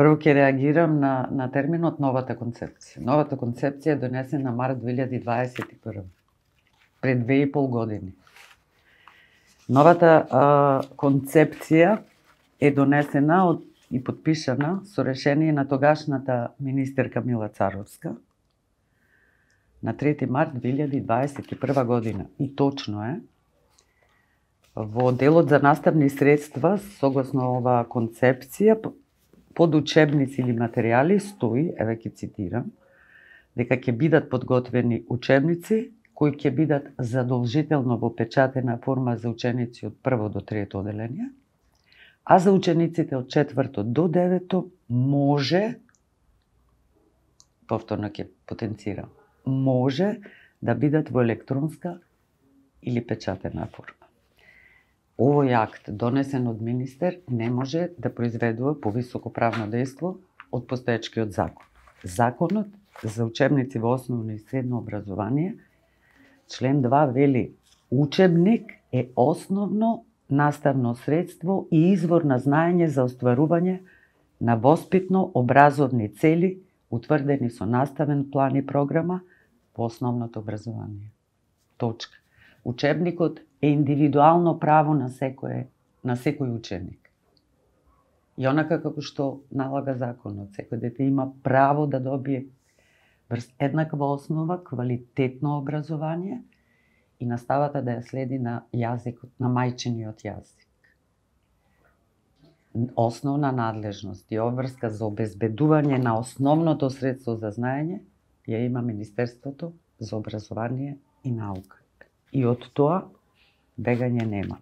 Прво ќе реагирам на терминот новата концепција. Новата концепција е донесена март 2021, пред 2,5 години. Новата концепција е донесена и подпишана со решение на тогашната министерка Мила Царовска на 3 март 2021 година. И точно е, во делот за наставни средства, согласно оваа концепција, под учебници или материјали стои, еве ќе цитирам, дека ќе бидат подготвени учебници кои ќе бидат задолжително во печатена форма за ученици од 1 до 3 оделение, а за учениците од 4 до 9 може, повторно ќе потенцирам, може да бидат во електронска или печатена форма. Овој акт, донесен од министер, не може да произведува повисоко правно дејство од постоечкиот закон. Законот за учебници во основно и средно образование, член 2 вели: учебник е основно наставно средство и извор на знаење за остварување на воспитно-образовни цели утврдени со наставен план и програма во основното образование. Точка. Учебникот е индивидуално право на секој ученик. И онака како што налага законот, секој дете има право да добие врз еднаква основа квалитетно образование и наставата да ја следи на јазикот, на мајчиниот јазик. Основна надлежност и обврска за обезбедување на основното средство за знаење ја има Министерството за образование и наука. И од тоа бегање нема.